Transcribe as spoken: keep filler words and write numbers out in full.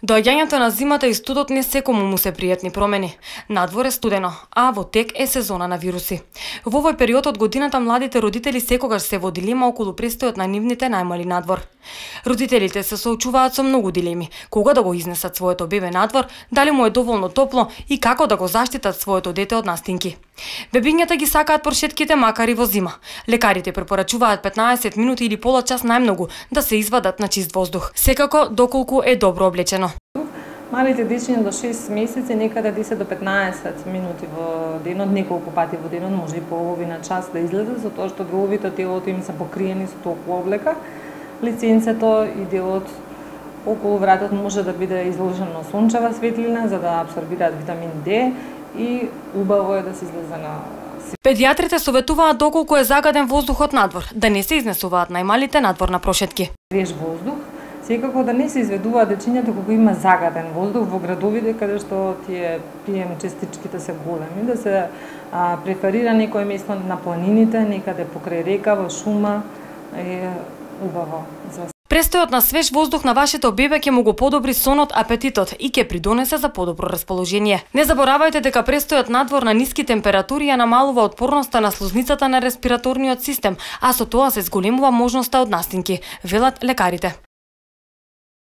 Доаѓањето на зимата и студот не секому му се пријатни промени. Надвор е студено, а во тек е сезона на вируси. Во овој период од годината младите родители секогаш се во дилема околу престојот на нивните најмали надвор. Родителите се соочуваат со многу дилеми: кога да го изнесат своето бебе надвор, дали му е доволно топло и како да го заштитат своето дете од настинки. Бебињата ги сакаат прошетките макар и во зима. Лекарите препорачуваат петнаесет минути или пола час најмногу да се извадат на чист воздух, секако доколку е добро облечено. Малите дечиња до шест месеци некаде десет до петнаесет минути во денот, неколку пати во денот, може и половина час да излезат, затоа што деловите телото им се покриени со топла облека. Лиценцето и делот околу вратот може да биде изложено на сончева светлина за да абсорбираат витамин Д и убаво е да се излезе на. Педиатрите советуваат доколку е загаден воздухот надвор, да не се изнесуваат најмалите надвор на прошетки. Свеж воздух, секако да не се изведуваат дечињата кога има загаден воздух во градовите каде што тие пи ем частичките се големи, да се а, преферира некој место на планините, некаде покрај река, во шума, е убаво. Престојот на свеж воздух на вашето бебе ќе му го подобри сонот, апетитот и ќе придонесе за подобро расположение. Не заборавајте дека престојот надвор на ниски температури ја намалува отпорноста на слузницата на респираторниот систем, а со тоа се зголемува можноста од настинки, велат лекарите.